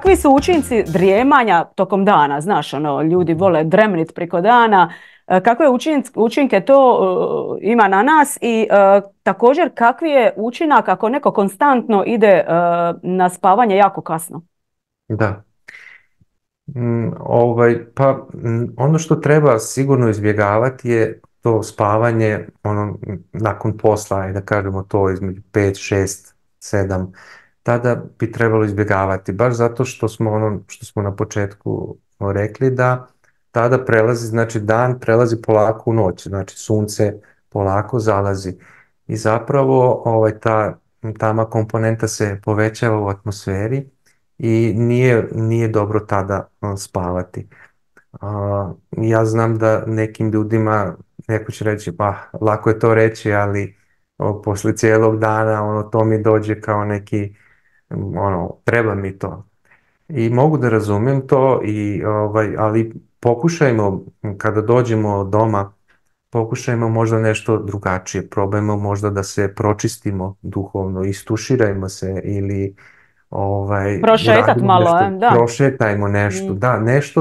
kakvi su učinci drijemanja tokom dana? Znaš, ono, ljudi vole dremnit preko dana. Kakve učinke to ima na nas i također kakvi je učinak ako neko konstantno ide na spavanje jako kasno? Da. Ono što treba sigurno izbjegavati je to spavanje nakon posla, da kažemo to između 5, 6, 7, tada bi trebalo izbjegavati, baš zato što smo što smo na početku rekli da tada prelazi, znači dan prelazi polako u noć, znači sunce polako zalazi i zapravo ta tama komponenta se povećava u atmosferi i nije dobro tada spavati. Ja znam da nekim ljudima, neko će reći, pa lako je to reći, ali poslije cijelog dana to mi dođe kao neki, treba mi to. I mogu da razumijem to, ali pokušajmo, kada dođemo doma, pokušajmo možda nešto drugačije, probajmo možda da se pročistimo duhovno, istuširajmo se ili Prošetat uradimo malo, nešto, da. prošetajmo nešto, Mm. da,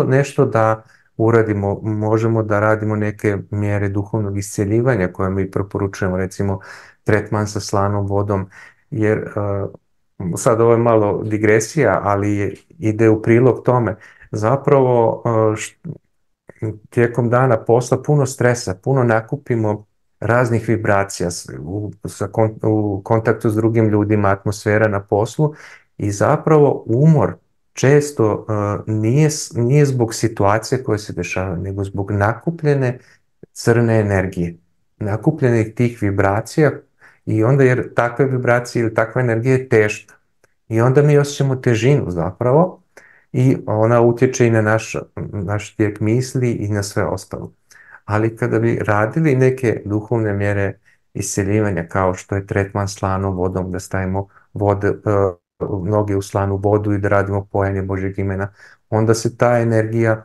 nešto da uradimo, možemo da radimo neke mjere duhovnog iscjeljivanja koje mi preporučujemo, recimo tretman sa slanom vodom, jer sad ovo je malo digresija, ali ide u prilog tome. Zapravo tijekom dana posla puno stresa, puno nakupimo raznih vibracija u kontaktu s drugim ljudima, atmosfera na poslu i zapravo umor često nije zbog situacije koje se dešava, nego zbog nakupljene crne energije, nakupljenih tih vibracija i onda jer takve vibracije ili takva energija je teška i onda mi osjećamo težinu zapravo i ona utječe i na naš tijek misli i na sve ostalo. Ali kada bi radili neke duhovne mjere isceljivanja kao što je tretman slanom vodom, da stavimo noge u slanu vodu i da radimo pojenje Božjeg imena, onda se ta energija,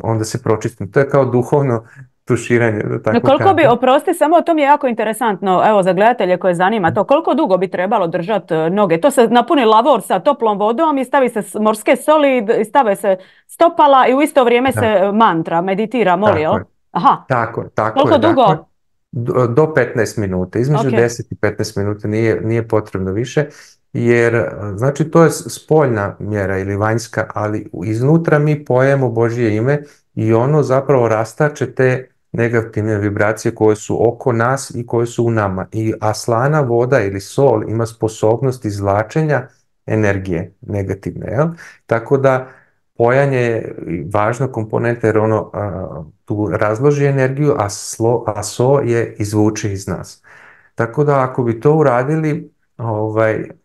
onda se pročisti. To je kao duhovno tuširanje, da No, tako koliko bi, kažem. oprosti, samo to mi je jako interesantno, evo za gledatelje koje zanima to, koliko dugo bi trebalo držati noge? To se napuni lavor sa toplom vodom i stavi se morske soli i stave se stopala i u isto vrijeme Da, se mantra, meditira, moli, jel? tako je. Aha, Tako koliko je, dakle, dugo? do 15 minuta, između Ok. 10 i 15 minuta nije potrebno više, jer znači to je spoljna mjera ili vanjska, ali iznutra mi pojemo Božje ime i ono zapravo rastače te negativne vibracije koje su oko nas i koje su u nama. A slana voda ili sol ima sposobnost izvlačenja energije negativne, jel? Tako da pojanje je važna komponenta jer ono tu razloži energiju, a so je izvuče iz nas. Tako da ako bi to uradili,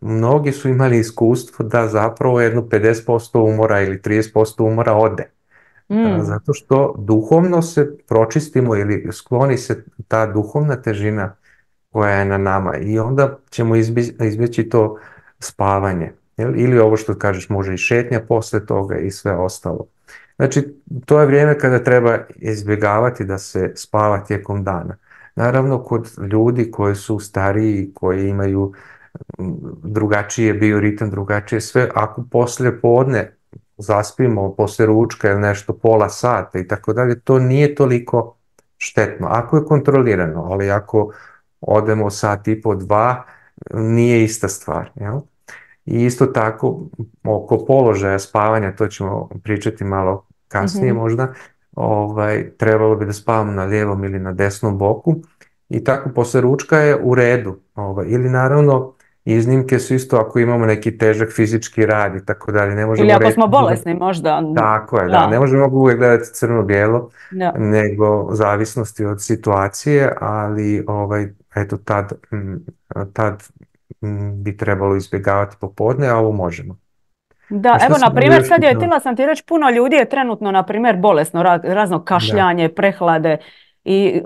mnogi su imali iskustvo da zapravo jedno 50% umora ili 30% umora ode. Mm. Zato što duhovno se pročistimo ili skloni se ta duhovna težina koja je na nama i onda ćemo izbjeći to spavanje. Ili ovo što kažeš, može i šetnja poslije toga i sve ostalo. Znači, to je vrijeme kada treba izbjegavati da se spava tijekom dana. Naravno, kod ljudi koji su stariji, koji imaju drugačije bioritam, drugačije sve, ako poslije podne zaspimo, poslije ručka ili nešto pola sata i tako dalje, to nije toliko štetno. Ako je kontrolirano, ali ako odemo sat i po dva, nije ista stvar. Jel? I isto tako, oko položaja spavanja, to ćemo pričati malo kasnije Mhm. možda, trebalo bi da spavamo na lijevom ili na desnom boku i tako poslije ručka je u redu. Ili naravno, iznimke su isto ako imamo neki težak fizički rad i tako dalje, ne Ili možemo ako reći. smo bolesni možda. Tako je, da, ne Da. možemo uvijek gledati crno-bijelo, Da. nego zavisnosti od situacije, ali eto tad bi trebalo izbjegavati popodne, a ovo možemo. Da, A šta evo si na mogu primjer još sad je, pitala? htjela sam ti reći, puno ljudi je trenutno na primjer bolesno, razno Da, kašljanje, prehlade i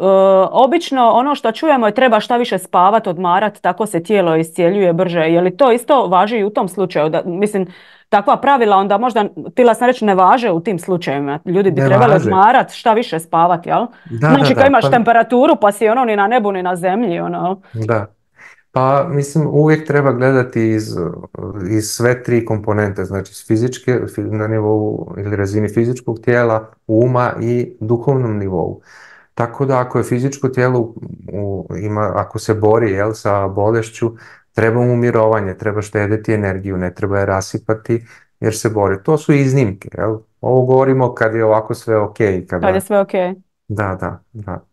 obično ono što čujemo je treba šta više spavat, odmarat, tako se tijelo iscjeljuje brže. Je li to isto važi i u tom slučaju? Da, mislim, takva pravila onda možda, htjela sam reći, ne važe u tim slučajevima. Ljudi bi ne trebali važe. odmarat, šta više spavat, jel? Da, da, Znači kad da, imaš pa temperaturu pa si ono ni na nebu ni na zemlji, ono. da. Pa mislim uvijek treba gledati iz sve tri komponente, znači s fizičke, na nivou ili razini fizičkog tijela, uma i duhovnom nivou. Tako da ako je fizičko tijelo ako se bori sa bolešću, treba mu mirovanje, treba štediti energiju, ne treba je rasipati jer se bori. To su iznimke. Ovo govorimo kad je ovako sve ok. Kad je sve ok. Da, da, da.